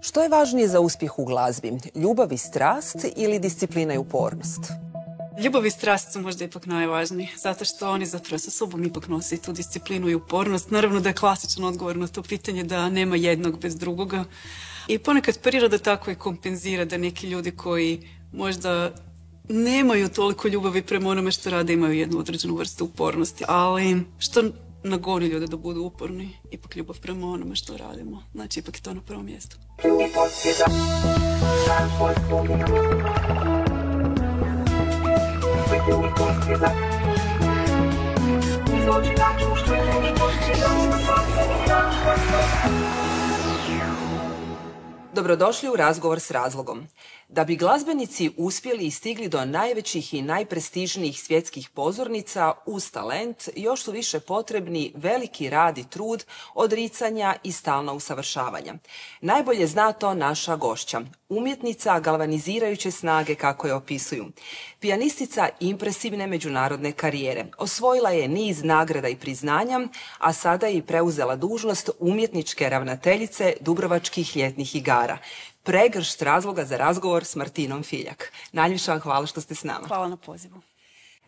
Što je važnije za uspjeh u glazbi? Ljubav i strast ili disciplina i upornost? Ljubav i strast su možda ipak najvažniji, zato što oni zapravo sa sobom ipak nose i tu disciplinu i upornost. Naravno da je klasičan odgovor na to pitanje da nema jednog bez drugoga. I ponekad priroda tako i kompenzira da neki ljudi koji možda nemaju toliko ljubavi prema onome što rade, imaju jednu određenu vrstu upornosti. Ali što nagoni ljude da budu uporni, ipak ljubav prema onome što radimo. Znači, ipak je to na prvom mjestu. Dobrodošli u Razgovor s razlogom. Da bi glazbenici uspjeli i stigli do najvećih i najprestižnijih svjetskih pozornica uz talent, još su više potrebni veliki rad i trud, odricanja i stalna usavršavanja. Najbolje zna to naša gošća, umjetnica galvanizirajuće snage kako je opisuju. Pijanistica impresivne međunarodne karijere. Osvojila je niz nagrada i priznanja, a sada je i preuzela dužnost umjetničke ravnateljice Dubrovačkih ljetnih igara. Pregršt razloga za razgovor s Martinom Filjak. Najljepša vam hvala što ste s nama. Hvala na pozivu.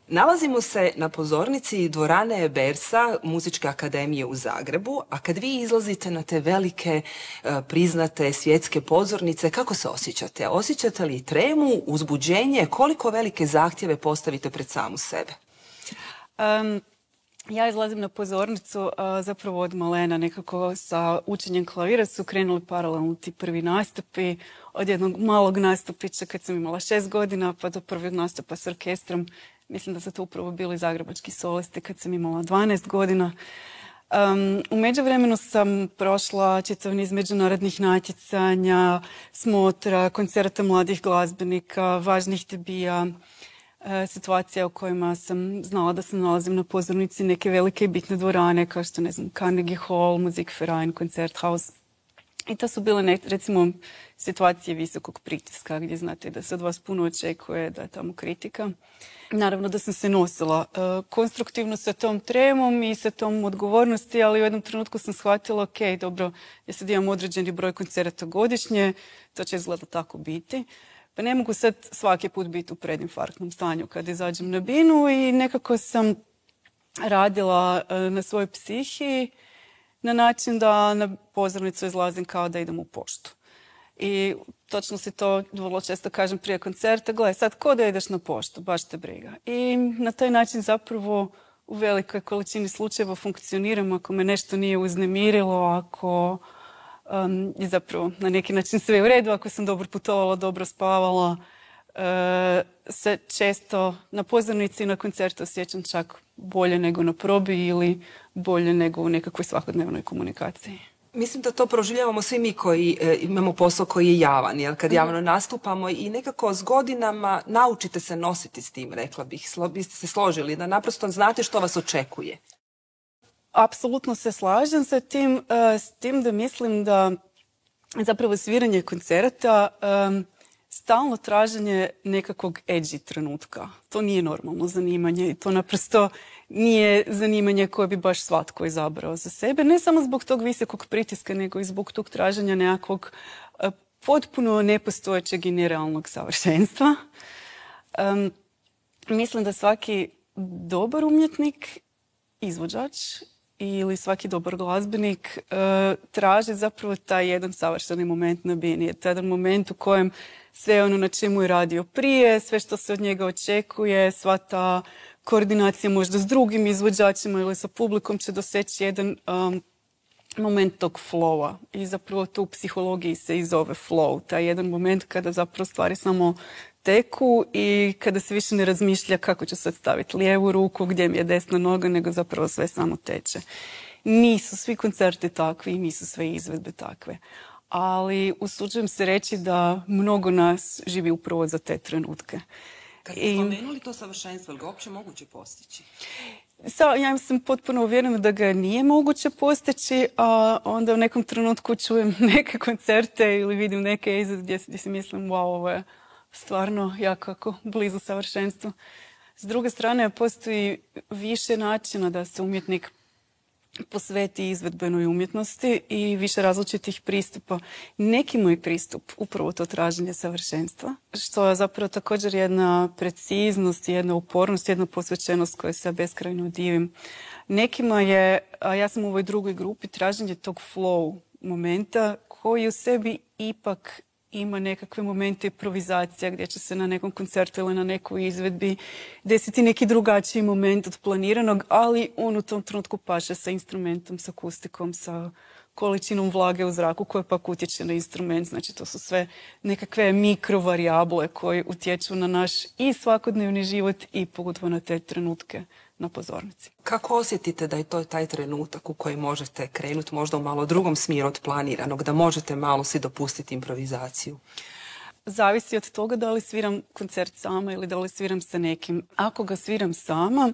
Nalazimo se na pozornici dvorane Bersa Muzičke akademije u Zagrebu, a kad vi izlazite na te velike, priznate svjetske pozornice, kako se osjećate? Osjećate li tremu, uzbuđenje? Koliko velike zahtjeve postavite pred samu sebe? Ja izlazim na pozornicu zapravo od malena, nekako sa učenjem klavira su krenuli paralelno ti prvi nastupi, od jednog malog nastupića kad sam imala 6 godina pa do prvog nastupa s orkestrom. Mislim da su to upravo bili zagrebački solisti kad sam imala 12 godina. U međuvremenu sam prošla čitav niz međunarodnih natjecanja, smotra, koncerta mladih glazbenika, važnih debija, situacija u kojima sam znala da se nalazim na pozornici neke velike i bitne dvorane kao što, ne znam, Carnegie Hall, Musikverein, Koncerthaus. I to su bile, recimo, situacije visokog pritiska gdje znate da se od vas puno očekuje, da je tamo kritika. Naravno da sam se nosila konstruktivno sa tom tremom i sa tom odgovornosti, ali u jednom trenutku sam shvatila, ok, dobro, ja sad imam određeni broj koncerata godišnje, to će izgleda tako biti. Pa ne mogu sad svaki put biti u predinfarktnom stanju kad izađem na binu i nekako sam radila na svojoj psihi na način da na pozornicu izlazim kao da idem u poštu. I točno si to vrlo često kažem prije koncerta, gledaj sad ko da ideš na poštu, baš te briga. I na taj način zapravo u velikoj količini slučajeva funkcioniram ako me nešto nije uznemirilo, ako je zapravo na neki način sve u redu, ako sam dobro putovala, dobro spavala, se često na pozornici i na koncertu osjećam čak bolje nego na probi ili bolje nego u nekakvoj svakodnevnoj komunikaciji. Mislim da to proživljavamo svi mi koji imamo posao koji je javan, jer kad javno nastupamo i nekako s godinama naučite se nositi s tim, rekla bih. Biste se složili da naprosto znate što vas očekuje. Apsolutno se slažem sa tim, s tim da mislim da zapravo sviranje koncerata stalno traženje nekakvog edgy trenutka. To nije normalno zanimanje i to naprosto nije zanimanje koje bi baš svatko izabrao za sebe. Ne samo zbog tog visokog pritiska, nego i zbog tog traženja nekakvog potpuno nepostojećeg i nerealnog savršenstva. Mislim da svaki dobar umjetnik, izvođač ili svaki dobar glazbenik traži zapravo taj jedan savršeni moment na bini. Taj jedan moment u kojem sve ono na čemu je radio prije, sve što se od njega očekuje, sva ta koordinacija možda s drugim izvođačima ili sa publikom će doseći jedan moment tog flowa. I zapravo to u psihologiji se i zove flow. Taj jedan moment kada zapravo stvari samo teku i kada se više ne razmišlja kako ću sad staviti lijevu ruku, gdje mi je desna noga, nego zapravo sve samo teče. Nisu svi koncerti takvi i nisu sve izvedbe takve. Ali usuđujem se reći da mnogo nas živi upravo za te trenutke. Kad ste spomenuli to savršenstvo, ili ga uopće moguće postići? Ja sam potpuno uvjerena da ga nije moguće postići, a onda u nekom trenutku čujem neke koncerte ili vidim neke izvede gdje si mislim, wow, ovo je stvarno jako blizu savršenstvu. S druge strane, postoji više načina da se umjetnik posveti izvedbenoj umjetnosti i više različitih pristupa. Neki moj pristup, upravo to traženje savršenstva, što je zapravo također jedna preciznost, jedna upornost, jedna posvećenost koje se ja beskrajno divim. Nekima je, a ja sam u ovoj drugoj grupi, traženje tog flow momenta koji u sebi ipak ima nekakve momente improvizacija gdje će se na nekom koncertu ili na nekoj izvedbi desiti neki drugačiji moment od planiranog, ali on u tom trenutku paše sa instrumentom, sa akustikom, sa količinom vlage u zraku koja pak utječe na instrument. Znači to su sve nekakve mikrovarijable koje utječu na naš i svakodnevni život i pogotovo na te trenutke na pozornici. Kako osjetite da je to taj trenutak u koji možete krenuti možda u malo drugom smjeru od planiranog, da možete malo si dopustiti improvizaciju? Zavisi od toga da li sviram koncert sama ili da li sviram sa nekim. Ako ga sviram sama,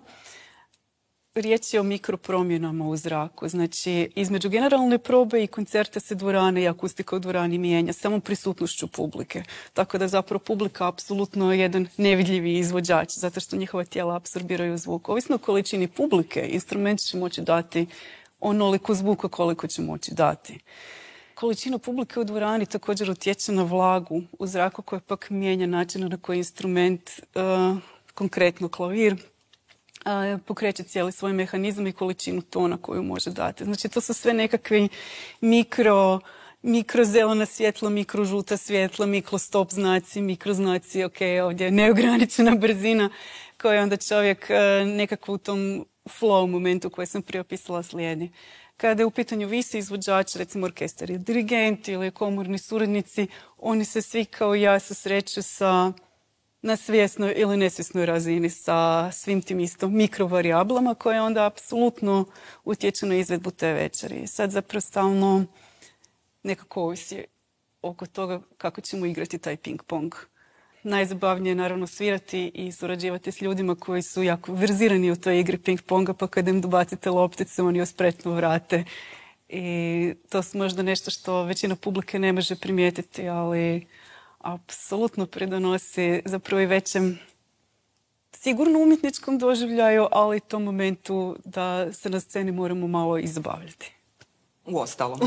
riječ je o mikropromjenama u zraku. Znači, između generalne probe i koncerta se dvorane i akustika u dvorani mijenja samo prisutnošću publike. Tako da zapravo publika apsolutno je jedan nevidljivi izvođač, zato što njihova tijela apsorbiraju zvuk. Ovisno o količini publike, instrument će moći dati onoliko zvuka koliko će moći dati. Količina publike u dvorani također utječe na vlagu u zraku koja pak mijenja način na koji instrument, konkretno klavir, pokreće cijeli svoj mehanizam i količinu tona koju može dati. Znači, to su sve nekakvi mikrozelena svjetla, mikrožuta svjetla, mikrostop znaci, mikroznaci, ok, ovdje je neograničena brzina koja onda čovjek nekako u tom flow momentu koji sam prije opisala slijedi. Kada je u pitanju visi izvođač, recimo orkestar ili dirigenti ili komorni suradnici, oni se svi kao ja susreću na svjesnoj ili nesvjesnoj razini sa svim tim istom mikrovarijablama koje onda apsolutno utječu na izvedbu te večeri. Sad zapravo stalno nekako ovisi oko toga kako ćemo igrati taj ping-pong. Najzabavnije je naravno svirati i surađivati s ljudima koji su jako verzirani u toj igri ping-ponga, pa kada im dobacite loptice, oni joj spretno vrate. I to su možda nešto što većina publike ne može primijetiti, ali apsolutno pridonosi zapravo i većem sigurno umjetničkom doživljaju, ali i tom momentu da se na sceni moramo malo i zabavljati. Uostalom.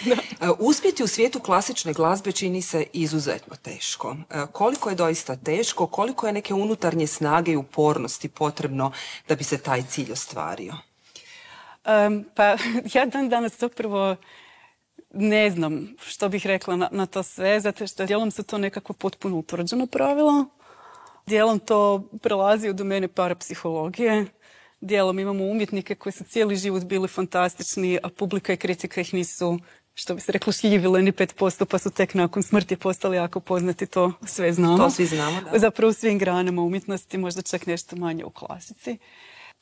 Da. Uspjeti u svijetu klasične glazbe čini se izuzetno teško. Koliko je doista teško, koliko je neke unutarnje snage i upornosti potrebno da bi se taj cilj ostvario? Pa ja danas zapravo ne znam što bih rekla na to sve, zato što dijelom su to nekako potpuno utvrđeno pravila, dijelom to prelazi u domene parapsihologije, dijelom imamo umjetnike koji su cijeli život bili fantastični, a publika i kritika ih nisu, što bi se reklo, šljivile ni 5%, pa su tek nakon smrti postali jako poznati, to sve znamo. To svi znamo, da. Zapravo u svim granama umjetnosti, možda čak nešto manje u klasici.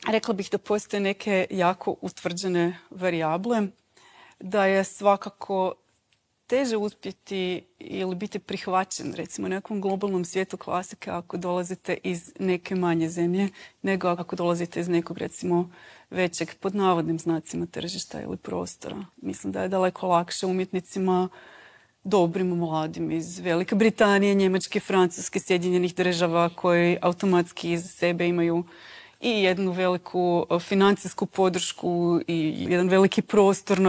Rekla bih da postoje neke jako utvrđene varijable, da je svakako teže uspjeti ili biti prihvaćen, recimo, u nekom globalnom svijetu klasike ako dolazite iz neke manje zemlje, nego ako dolazite iz nekog, recimo, većeg, pod navodnim znacima, tržišta ili prostora. Mislim da je daleko lakše umjetnicima, dobrim, mladim iz Velike Britanije, Njemačke, Francuske, Sjedinjenih Država, koji automatski iz sebe imaju i jednu veliku financijsku podršku i jedan veliki prostor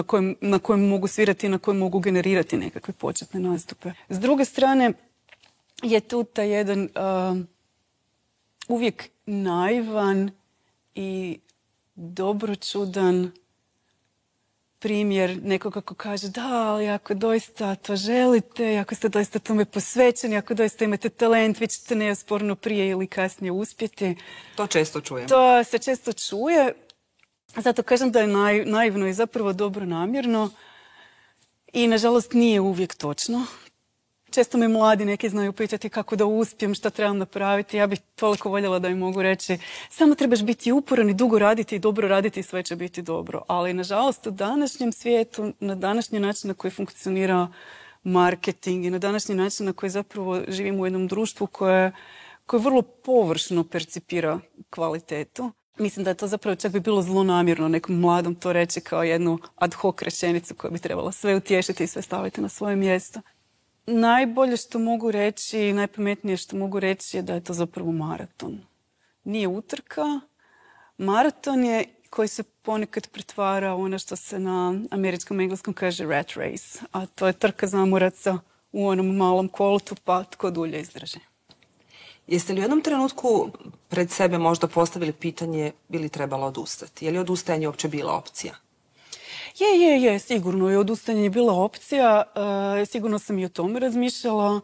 na kojem mogu svirati i na kojem mogu generirati nekakve početne nastupe. S druge strane je tu taj jedan uvijek naivan i dobročudan primjer nekoga ko kaže da, ali ako doista to želite, ako ste doista tome posvećeni, ako doista imate talent, vi ćete neosporno prije ili kasnije uspjeti. To često čujem. To se često čuje. Zato kažem da je naivno i zapravo dobronamjerno i nažalost nije uvijek točno. Često me mladi neki znaju pitati kako da uspijem, šta trebam napraviti. Ja bih toliko voljela da im mogu reći samo trebaš biti uporan i dugo raditi i dobro raditi i sve će biti dobro. Ali nažalost u današnjem svijetu, na današnji način na koji funkcionira marketing i na današnji način na koji zapravo živimo u jednom društvu koje vrlo površno percipira kvalitetu. Mislim da je to zapravo čak bi bilo zlonamjerno nekom mladom to reći kao jednu ad hoc rečenicu koja bi trebala sve utješiti i sve staviti na svoje mjesto. Najbolje što mogu reći, najpametnije što mogu reći je da je to zapravo maraton. Nije utrka. Maraton je koji se ponekad pretvara u ono što se na američkom engleskom kaže rat race, a to je trka zamoraca u onom malom kolotu, pa tko dulje izdrži. Jeste li u jednom trenutku pred sebe možda postavili pitanje bi li trebalo odustati? Je li odustajanje uopće bila opcija? Je, sigurno je odustajanje bila opcija. Sigurno sam i o tome razmišljala,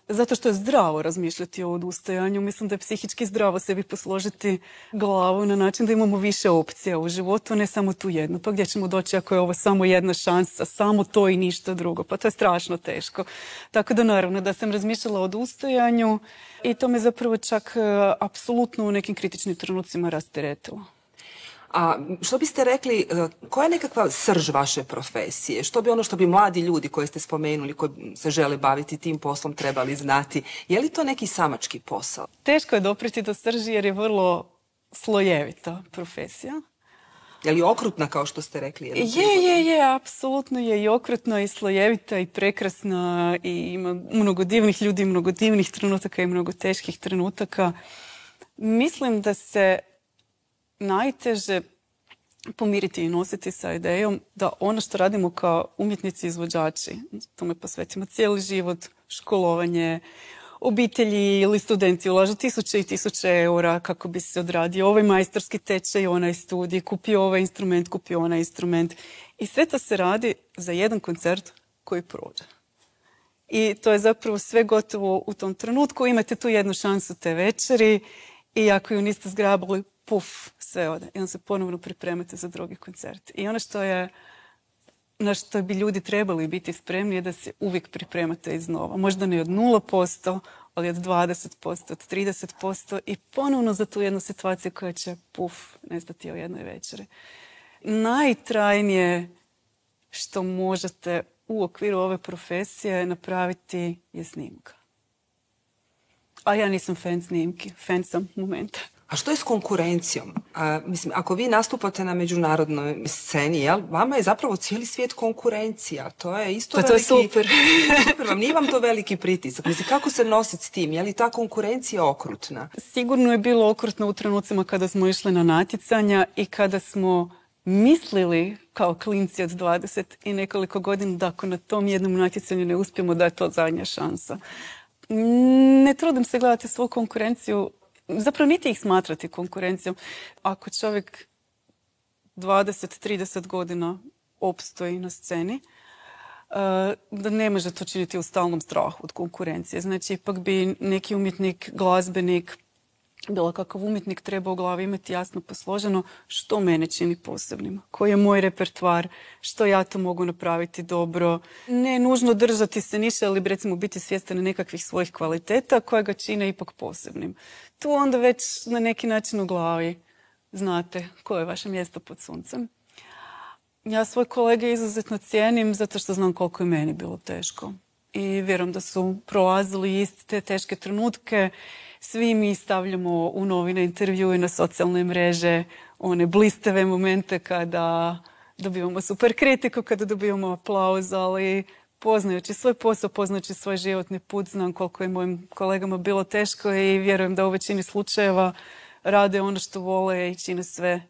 zato što je zdravo razmišljati o odustajanju. Mislim da je psihički zdravo sebi posložiti glavu na način da imamo više opcija u životu, ne samo tu jednu. Pa gdje ćemo doći ako je ovo samo jedna šansa, samo to i ništa drugo? Pa to je strašno teško. Tako da naravno da sam razmišljala o odustajanju i to me zapravo čak apsolutno u nekim kritičnim trenucima rasteretilo. A što biste rekli, koja je nekakva srž vaše profesije? Što bi ono što bi mladi ljudi koje ste spomenuli, koji se žele baviti tim poslom, trebali znati? Je li to neki samački posao? Teško je dopriti do srži jer je vrlo slojevita profesija. Je li okrutna kao što ste rekli? Je, apsolutno je i okrutna i slojevita i prekrasna i ima mnogo divnih ljudi, mnogo divnih trenutaka i mnogo teških trenutaka. Mislim da se najteže pomiriti i nositi sa idejom da ono što radimo kao umjetnici izvođači, tome posvetimo cijeli život, školovanje, obitelji ili studenti ulažu tisuće i tisuće eura kako bi se odradio ovaj majstorski tečaj, onaj studij, kupio ovaj instrument, kupio onaj instrument. I sve to se radi za jedan koncert koji prođe. I to je zapravo sve gotovo u tom trenutku. Imate tu jednu šansu te večeri i ako ju niste zgrabili, puf, sve ode. I onda se ponovno pripremate za drugi koncert. I ono na što bi ljudi trebali biti spremni je da se uvijek pripremate iznova. Možda ne od 0%, ali od 20%, od 30% i ponovno za tu jednu situaciju koja će, puf, nestati u jednoj večeri. Najtrajnije što možete u okviru ove profesije napraviti je snimka. A ja nisam fan snimki, fan sam momenta. A što je s konkurencijom? Mislim, ako vi nastupate na međunarodnoj sceni, jel, vama je zapravo cijeli svijet konkurencija. To je isto pa veliki... to je super. Super vam, nije vam to veliki pritisak. Mislim, kako se nositi s tim? Je li ta konkurencija okrutna? Sigurno je bilo okrutno u trenucima kada smo išli na natjecanja i kada smo mislili kao klinci od 20 i nekoliko godina da ako na tom jednom natjecanju ne uspijemo da je to zadnja šansa. Ne trudim se gledati svoju konkurenciju, zapravo niti ih smatrati konkurencijom. Ako čovjek 20-30 godina opstoji na sceni, da ne može to činiti u stalnom strahu od konkurencije. Znači, ipak bi neki umjetnik, glazbenik, bilo kakav umjetnik treba u glavi imati jasno posloženo što mene čini posebnim, koji je moj repertoar, što ja to mogu napraviti dobro. Ne nužno držati se niše, ali recimo biti svjestan nekakvih svojih kvaliteta koje ga čine ipak posebnim. Tu onda već na neki način u glavi znate koje je vaše mjesto pod suncem. Ja svoje kolege izuzetno cijenim zato što znam koliko je meni bilo teško. I vjerujem da su prolazili iste te teške trenutke. Svi mi stavljamo u novine, intervjue, na socijalne mreže, one blistave momente kada dobivamo super kritiku, kada dobivamo aplauz, ali poznajući svoj posao, poznajući svoj životni put, znam koliko je mojim kolegama bilo teško i vjerujem da u većini slučajeva rade ono što vole i čine sve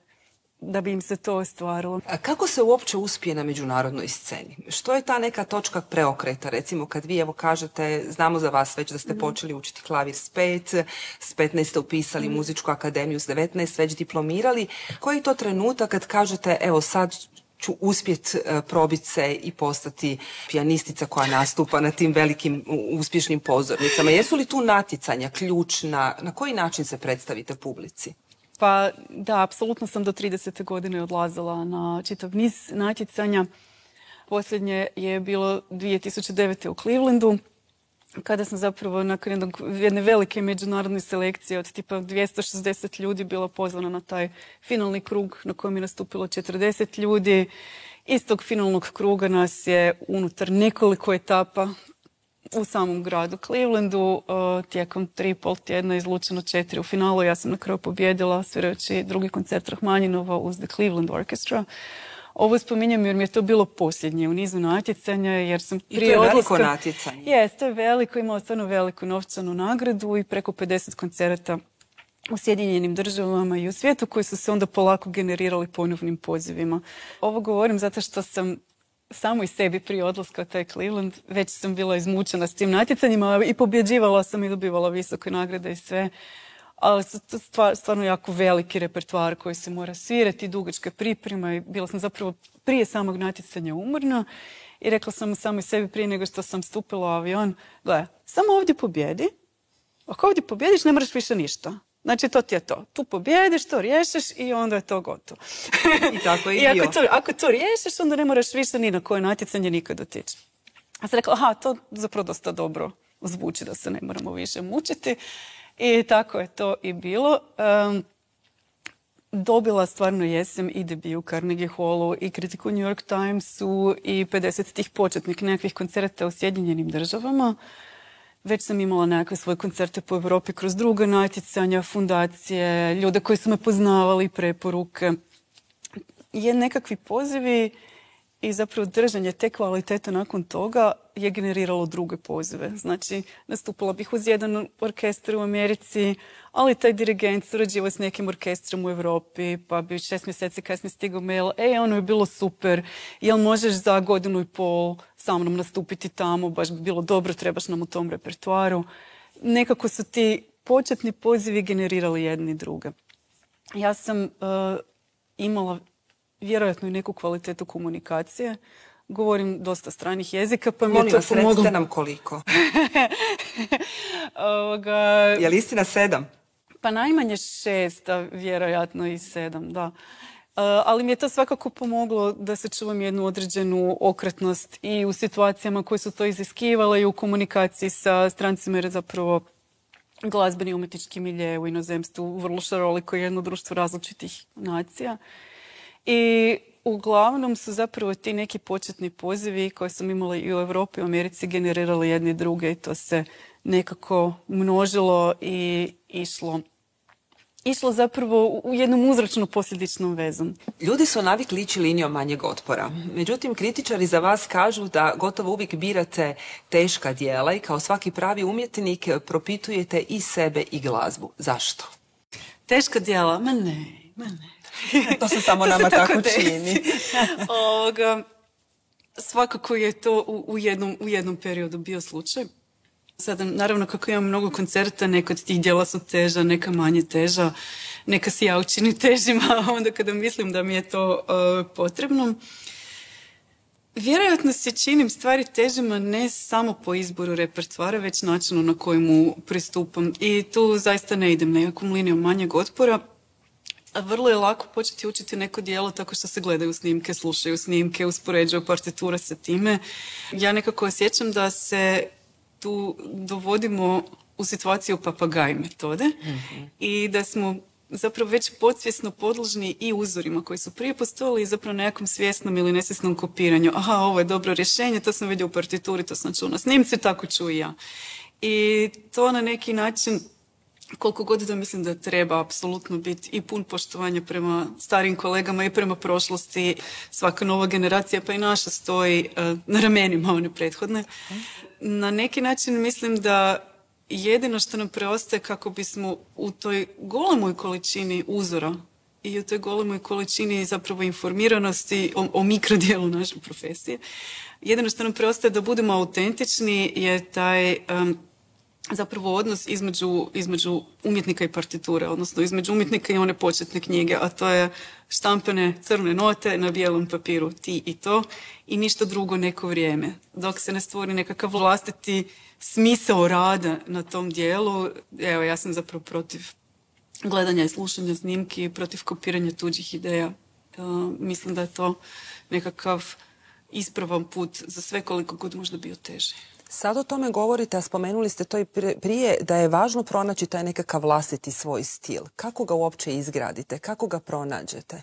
da bi im se to ostvarilo. A kako se uopće uspije na međunarodnoj sceni? Što je ta neka točka preokreta? Recimo kad vi evo kažete, znamo za vas već da ste počeli učiti klavir s 5, s 15 ste upisali muzičku akademiju, s 19 već diplomirali. Koji je to trenutak kad kažete evo sad ću uspjeti probiti se i postati pijanistica koja nastupa na tim velikim uspješnim pozornicama? Jesu li tu natjecanja ključna? Na koji način se predstavite publici? Pa da, apsolutno sam do 30. godine odlazila na čitav niz natjecanja. Posljednje je bilo 2009. u Clevelandu, kada sam zapravo nakon jedne velike međunarodne selekcije od tipa 260 ljudi bila pozvana na taj finalni krug na kojem je nastupilo 40 ljudi. Iz tog finalnog kruga nas je unutar nekoliko etapa u samom gradu Clevelandu tijekom 3,5 tjedna izlučeno 4 u finalu. Ja sam na kraju pobjedila svirajući drugi koncert Rahmanjinova uz The Cleveland Orchestra. Ovo spominjem jer mi je to bilo posljednje u nizu natjecanja jer sam prije odlaska... I to je veliko natjecanje. Jes, to je veliko, imao stvarno veliku novčanu nagradu i preko 50 koncerata u Sjedinjenim državama i u svijetu koji su se onda polako generirali ponovnim pozivima. Ovo govorim zato što sam samo i sebi prije odlaska u taj Cleveland već sam bila izmučena s tim natjecanjima i pobjeđivala sam i dobivala visoke nagrade i sve. Ali su to stvarno jako veliki repertoar koji se mora svirati, dugačka priprema i bila sam zapravo prije samog natjecanja umorna i rekla sam samo i sebi prije nego što sam stupila u avion, gle, samo ovdje pobjedi, ako ovdje pobjediš ne moraš više ništa. Znači, to ti je to. Tu pobjediš, to riješeš i onda je to gotovo. I tako je I ako to riješeš, onda ne moraš više ni na koje natjecanje nikad otići. Ja sam rekla, aha, to zapravo dosta dobro zvuči da se ne moramo više mučiti. I tako je to i bilo. Dobila stvarno jesam i debiju u Carnegie Hallu i kritiku u New York Timesu i 50 tih početnih nekakvih koncerta u Sjedinjenim državama. Već sam imala nekakve svoje koncerte po Europi kroz druga natjecanja, fundacije, ljude koji su me poznavali, preporuke. Nekakvi pozivi i zapravo držanje te kvalitete nakon toga je generiralo druge pozive. Znači, nastupila bih uz jedan orkestar u Americi, ali taj dirigent surađivao s nekim orkestrom u Europi, pa bi 6 mjeseci kasnije stigao mail, ono je bilo super, jel možeš za 1.5 godinu sa mnom nastupiti tamo, baš bi bilo dobro, trebaš nam u tom repertoaru. Nekako su ti početni pozivi generirali jedni druge. Ja sam imala vjerojatno i neku kvalitetu komunikacije. Govorim dosta stranih jezika, pa mi je to pomoglo. Recite nam koliko. Je li istina 7? Pa najmanje 6, a vjerojatno i 7, da. Ali mi je to svakako pomoglo da se čuvam jednu određenu okretnost i u situacijama koje su to iziskivale i u komunikaciji sa strancima, jer je zapravo glazbeni i umjetnički milje u inozemstvu vrlo šaroliko, jedno društvo različitih nacija. I uglavnom su zapravo ti neki početni pozivi koje sam imala i u Europi i u Americi generirali jedni druge i to se nekako množilo i išlo zapravo u jednom uzročno posljedičnom vezom. Ljudi su navikli ići linijom manjeg otpora. Međutim, kritičari za vas kažu da gotovo uvijek birate teška djela i kao svaki pravi umjetnik propitujete i sebe i glazbu. Zašto? Teška djela? Ma ne. To se samo nama tako čini. Svakako je to u jednom periodu bio slučaj. Sada, naravno, kako imam mnogo koncerta, neka od tih djela su teža, neka manje teža, neka si ja učini težima, onda kada mislim da mi je to potrebno. Vjerojatno se činim stvari težima ne samo po izboru repertoara, već načinu na koji mu pristupam. I tu zaista ne idem nekakvom linijom manjeg otpora. Vrlo je lako početi učiti neko djelo tako što se gledaju snimke, slušaju snimke, uspoređuju partiture sa time. Ja nekako osjećam da se tu dovodimo u situaciju papagaj metode i da smo zapravo već podsvjesno podložni i uzorima koji su prije postojali i zapravo nekakvom svjesnom ili nesvjesnom kopiranju. Aha, ovo je dobro rješenje, to sam vidio u partituri, to sam čuo na snimci, tako ću i ja. I to na neki način, koliko god da mislim da treba apsolutno biti i pun poštovanja prema starim kolegama i prema prošlosti, svaka nova generacija pa i naša stoji na ramenima one prethodne. Na neki način mislim da jedino što nam preostaje kako bismo u toj golemoj količini uzora i u toj golemoj količini zapravo informiranosti o mikrodijelu naše profesije, jedino što nam preostaje da budemo autentični je taj zapravo odnos između umjetnika i partiture, odnosno između umjetnika i one početne knjige, a to je štampane crne note na bijelom papiru, ti i to, i ništa drugo neko vrijeme. Dok se ne stvori nekakav vlastiti smisao rada na tom dijelu, evo, ja sam zapravo protiv gledanja i slušanja snimki, protiv kopiranja tuđih ideja. Mislim da je to nekakav ispravan put za sve, koliko god možda bio teži. Sad o tome govorite, a spomenuli ste to i prije, da je važno pronaći taj nekakav vlastiti svoj stil. Kako ga uopće izgradite? Kako ga pronađete?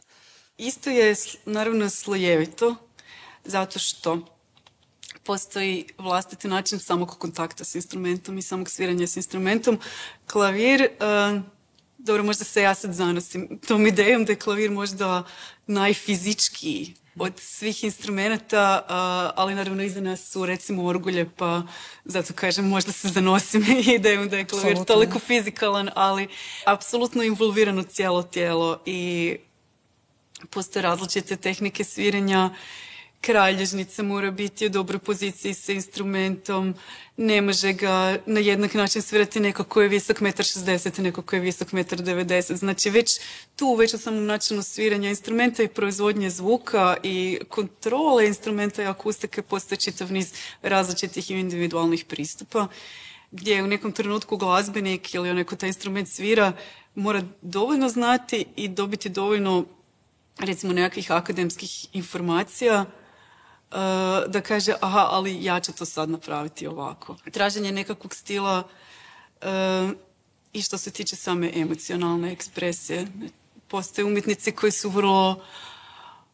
Isto je, naravno, slojevito, zato što postoji vlastiti način samog kontakta s instrumentom i samog sviranja s instrumentom. Klavir, dobro, možda se ja sad zanosim tom idejom da je klavir možda najfizičkiji od svih instrumenta, ali naravno iza nas su recimo orgulje, pa zato kažem možda se zanosim idejom da je klavir toliko fizikalan, ali apsolutno involvirano cijelo tijelo i postoje različite tehnike sviranja. Kralježnica mora biti u dobroj poziciji sa instrumentom, ne može ga na jednak način svirati neko ko je visok 1,60 m, neko ko je visok 1,90 m. Znači već u samom načinu sviranja instrumenta i proizvodnje zvuka i kontrole instrumenta i akustike postoji čitav niz različitih i individualnih pristupa, gdje u nekom trenutku glazbenik ili onaj ko taj instrument svira mora dovoljno znati i dobiti dovoljno recimo nekakvih akademskih informacija da kaže, aha, ali ja ću to sad napraviti ovako. Traženje nekakvog stila i što se tiče same emocionalne ekspresije. Postoje umjetnici koji su vrlo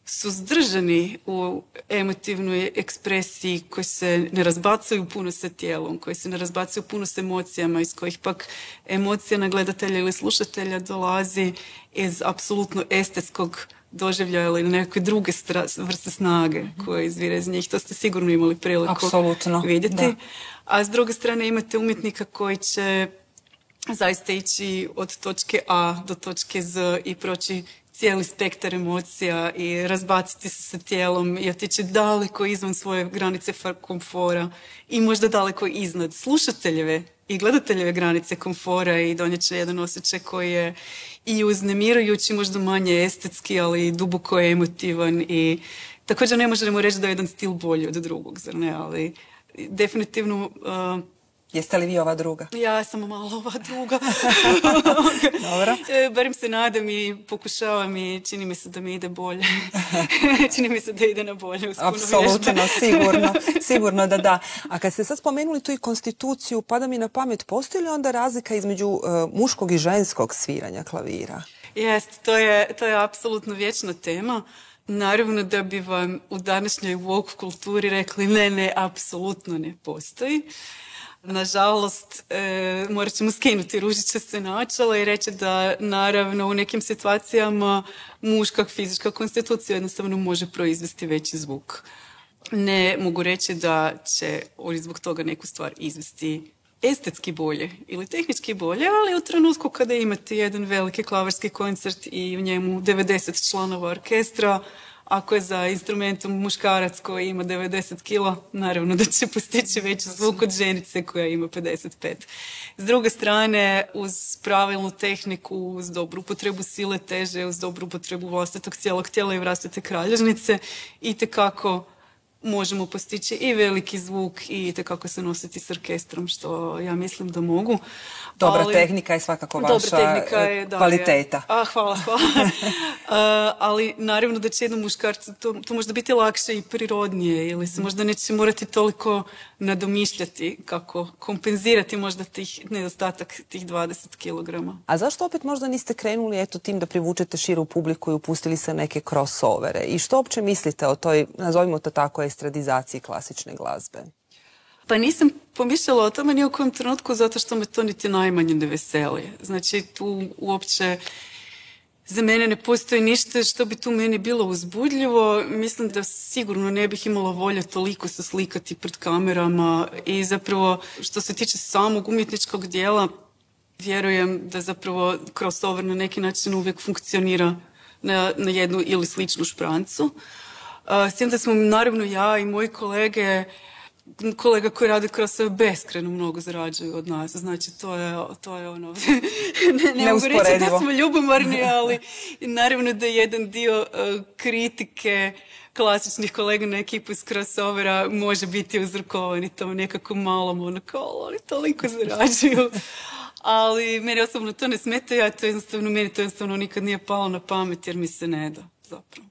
suzdržani u emotivnoj ekspresiji, koji se ne razbacuju puno sa tijelom, koji se ne razbacuju puno s emocijama, iz kojih pak emocija na gledatelja ili slušatelja dolazi iz apsolutno estetskog doživljaja ili nekakve druge vrste snage koje izvire iz njih. To ste sigurno imali priliku vidjeti. Da. A s druge strane imate umjetnika koji će zaista ići od točke A do točke Z i proći cijeli spektar emocija i razbaciti se sa tijelom i otići daleko izvan svoje granice komfora i možda daleko iznad slušateljeve i gledateljeve granice komfora i donijet će jedan osjećaj koji je i uznemirujući, možda manje estetski, ali duboko emotivan i također ne možemo reći da je jedan stil bolji od drugog, zar ne, ali definitivno... Jeste li vi ova druga? Ja sam malo ova druga. Dobro. Barem se nadam i pokušavam i čini mi se da mi ide bolje. Čini mi se da ide na bolje. Apsolutno, sigurno da da. A kad ste sad spomenuli tu i konstituciju, pada mi na pamet, postoji li onda razlika između muškog i ženskog sviranja klavira? Jest, to je apsolutno vječna tema. Naravno da bi vam u današnjoj woke kulturi rekli ne, apsolutno ne postoji. Nažalost, morat ćemo skinuti ružičaste naočale i reći da naravno u nekim situacijama muška fizička konstitucija jednostavno može proizvesti veći zvuk. Ne mogu reći da će zbog toga neku stvar izvesti estetski bolje ili tehnički bolje, ali u trenutku kada imate jedan veliki klavirski koncert i u njemu 90 članova orkestra, ako je za instrumentom muškarac koji ima 90 kila, naravno da će postići veći zvuk od ženice koja ima 55. S druge strane, uz pravilnu tehniku, uz dobru upotrebu sile teže, uz dobru upotrebu vlastitog cijelog tijela i vlastite kralježnice, itekako možemo postići i veliki zvuk i itekako se nositi s orkestrom, što ja mislim da mogu. Dobra tehnika je svakako vaša kvaliteta. Hvala. Ali naravno da će jednom muškarcu to možda biti lakše i prirodnije ili se možda neće morati toliko nadomišljati kako kompenzirati možda nedostatak tih 20 kilograma. A zašto opet možda niste krenuli tim da privučete širu publiku i upustili se neke crossovere? I što uopće mislite o toj, nazovimo to tako, estradizaciji klasične glazbe? Pa nisam pomišljala o tome ni u kojem trenutku zato što me to niti najmanje ne veseli. Znači tu uopće za mene ne postoji ništa što bi tu meni bilo uzbudljivo. Mislim da sigurno ne bih imala volje toliko se slikati pred kamerama i zapravo što se tiče samog umjetničkog dijela vjerujem da zapravo crossover na neki način uvijek funkcionira na jednu ili sličnu šprancu. S tim da smo naravno ja i moji kolega koji rade crossover beskrajno mnogo zarađuju od nas. Znači, to je ono... ne mogu reći da smo ljubomorni, ali naravno da jedan dio kritike klasičnih kolega na ekipu iz crossovera može biti uzrokovan i tom nekako malom oni toliko zarađuju. Ali meni osobno to ne smeta, meni to jednostavno nikad nije palo na pamet jer mi se ne da zapravo.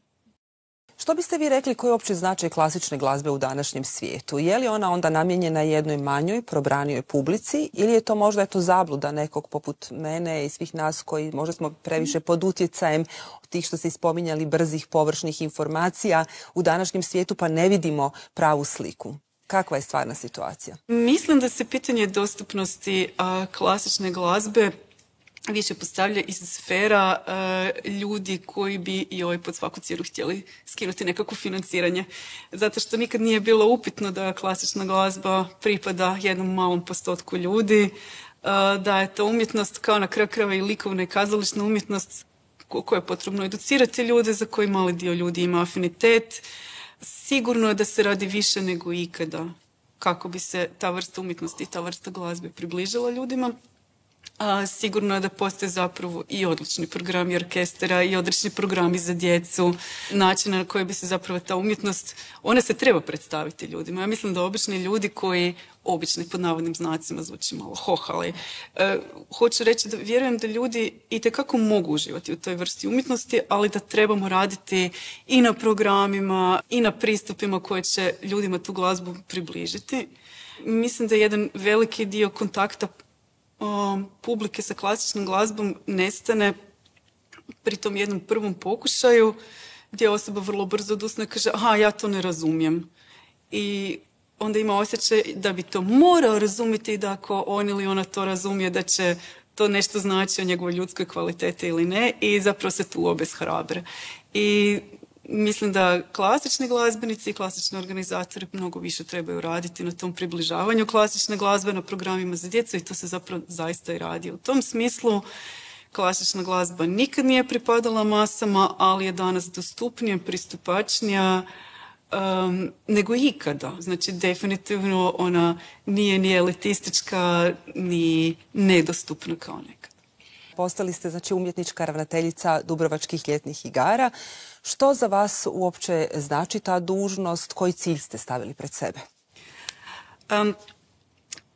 Što biste vi rekli koji je opći značaj klasične glazbe u današnjem svijetu? Je li ona onda namijenjena jednoj manjoj, probranijoj publici ili je to možda zabluda nekog poput mene i svih nas koji možda smo previše pod utjecajem tih što ste spominjali brzih, površnih informacija u današnjem svijetu pa ne vidimo pravu sliku? Kakva je stvarna situacija? Mislim da se pitanje dostupnosti klasične glazbe više postavlja iz sfera ljudi koji bi pod svaku cijenu htjeli skinuti nekako financiranje. Zato što nikad nije bilo upitno da klasična glazba pripada jednom malom postotku ljudi, da je to umjetnost kao na kraju krajeva i likovna i kazališna umjetnost koju je potrebno educirati ljude, za koji mali dio ljudi ima afinitet. Sigurno je da se radi više nego ikada kako bi se ta vrsta umjetnosti i ta vrsta glazbe približila ljudima. Sigurno je da postoje zapravo i odlični programi orkestara i odlični programi za djecu, načina na koji bi se zapravo ta umjetnost, ona se treba predstaviti ljudima. Ja mislim da obični ljudi koji, obični pod navodnim znacima zvuči malo hohali, hoću reći da vjerujem da ljudi itekako mogu uživati u toj vrsti umjetnosti, ali da trebamo raditi i na programima i na pristupima koje će ljudima tu glazbu približiti. Mislim da jedan veliki dio kontakta publike sa klasičnom glazbom nestane pri tom jednom prvom pokušaju gdje osoba vrlo brzo odustane i kaže aha, ja to ne razumijem. I onda ima osjećaj da bi to morao razumjeti i da ako on ili ona to razumije da će to nešto znači o njegovoj ljudskoj kvaliteti ili ne i zapravo se tu obeshrabre. I mislim da klasični glazbenici i klasični organizatori mnogo više trebaju raditi na tom približavanju klasične glazbe, na programima za djecu i to se zapravo zaista i radi. U tom smislu klasična glazba nikad nije pripadala masama, ali je danas dostupnija, pristupačnija nego ikada. Znači, definitivno ona nije ni elitistička, ni nedostupna kao nekad. Postali ste, znači, umjetnička ravnateljica Dubrovačkih ljetnih igara. Što za vas uopće znači ta dužnost? Koji cilj ste stavili pred sebe?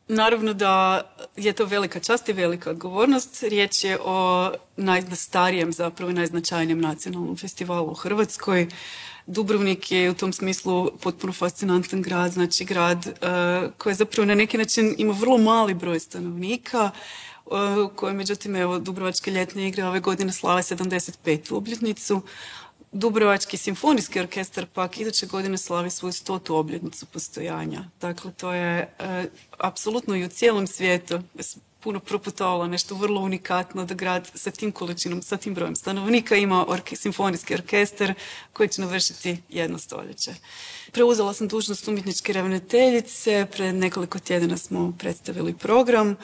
Naravno da je to velika čast i velika odgovornost. Riječ je o najstarijem, zapravo najznačajnijem nacionalnom festivalu u Hrvatskoj. Dubrovnik je u tom smislu potpuno fascinantan grad, znači grad koji zapravo na neki način ima vrlo mali broj stanovnika, koje međutim, evo, Dubrovačke ljetne igre ove godine slave 75. obljetnicu. Dubrovački simfonijski orkestar pak iduće godine slavi svoju 100. obljetnicu postojanja. Dakle, to je apsolutno i u cijelom svijetu puno proputovala nešto vrlo unikatno da grad sa tim količinom, sa tim brojem stanovnika ima simfonijski orkestar koji će navršiti 1 stoljeće. Preuzela sam dužnost umjetničke ravnateljice, pred nekoliko tjedana smo predstavili program.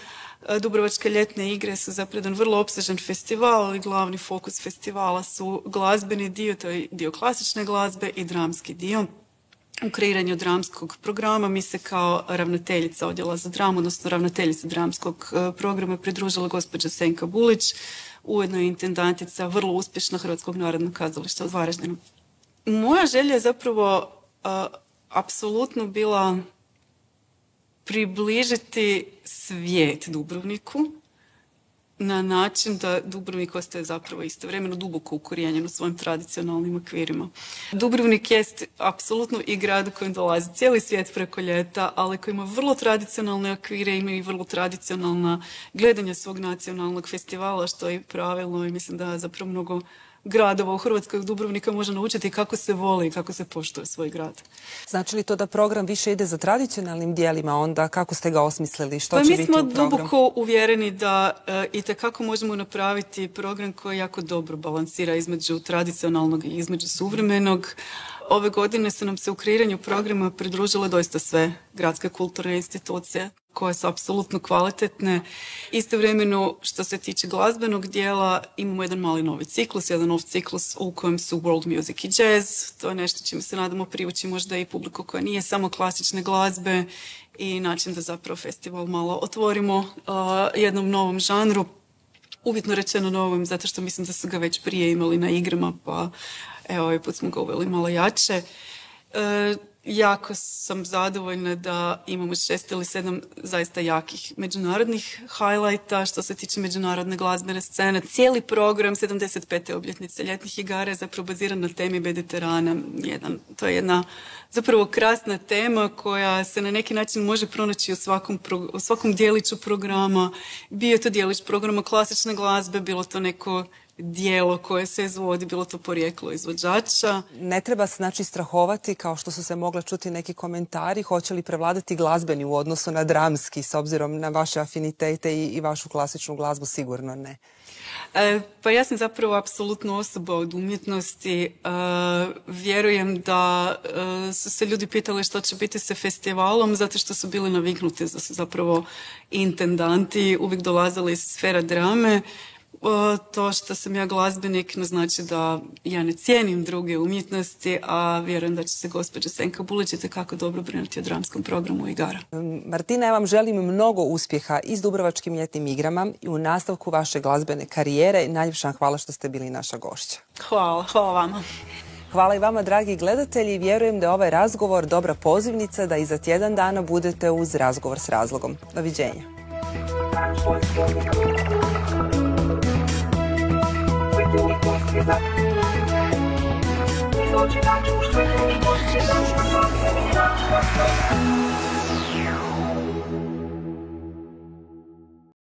Dubrovačke ljetne igre su zapravo jedan vrlo opsežan festival, ali glavni fokus festivala su glazbeni dio, to je dio klasične glazbe i dramski dio. U kreiranju dramskog programa mi se kao ravnateljica odjela za dramu, odnosno ravnateljica dramskog programa pridružila gospođa Senka Bulić, ujedno je intendantica vrlo uspješna Hrvatskog narodnog kazališta u Varaždinu. Moja želja je zapravo apsolutno bila približiti svijet Dubrovniku na način da Dubrovnik ostaje zapravo istovremeno duboko ukorijenjen u svojim tradicionalnim okvirima. Dubrovnik jest apsolutno i grad u kojem dolazi cijeli svijet preko ljeta, ali koji ima vrlo tradicionalne okvire, ima i vrlo tradicionalna gledanja svog nacionalnog festivala, što je pravilno i mislim da zapravo mnogo gradova u Hrvatskoj Dubrovnika može naučiti kako se voli i kako se poštuje svoj grad. Znači li to da program više ide za tradicionalnim dijelima, onda kako ste ga osmislili? Što će biti u programu? Mi smo duboko uvjereni da itekako možemo napraviti program koji jako dobro balansira između tradicionalnog i između suvremenog. Ove godine su nam se u kreiranju programa pridružile doista sve gradske kulturne institucije koje su apsolutno kvalitetne. Istovremeno, što se tiče glazbenog dijela, imamo jedan mali novi ciklus, jedan nov ciklus u kojem su world music i jazz. To je nešto čime se nadamo privući možda i publiku koja nije samo klasične glazbe i način da zapravo festival malo otvorimo jednom novom žanru. Uvjetno rečeno novom, zato što mislim da su ga već prije imali na igrama, pa evo, ovaj put smo ga uveli malo jače. Jako sam zadovoljna da imamo 6 ili 7 zaista jakih međunarodnih highlighta što se tiče međunarodne glazbene scene. Cijeli program 75. obljetnice ljetnih igara je zapravo baziran na temi Mediterana. To je jedna zapravo krasna tema koja se na neki način može pronaći u svakom dijeliću programa. Bio je to dijelić programa klasične glazbe, bilo to neko dijelo koje se izvodi, bilo to porijeklo izvođača. Ne treba se znači strahovati, kao što su se mogle čuti neki komentari, hoće li prevladati glazbeni u odnosu na dramski, s obzirom na vaše afinitete i vašu klasičnu glazbu, sigurno ne. Pa ja sam zapravo apsolutno osoba od umjetnosti. Vjerujem da su se ljudi pitali što će biti sa festivalom, zato što su bili naviknuti da su zapravo intendanti, uvijek dolazili iz sfera drame. To što sam ja glazbenik ne znači da ja ne cijenim druge umjetnosti, a vjerujem da će se gospođa Senka Bulić itekako dobro brinuti o dramskom programu igara. Martina, ja vam želim mnogo uspjeha i s Dubrovačkim ljetnim igrama i u nastavku vaše glazbene karijere. Najljepša hvala što ste bili naša gošća. Hvala vama. Hvala i vama, dragi gledatelji. Vjerujem da je ovaj razgovor dobra pozivnica da i za tjedan dana budete uz Razgovor s razlogom. Doviđenja. Izločina čuštve i posljedna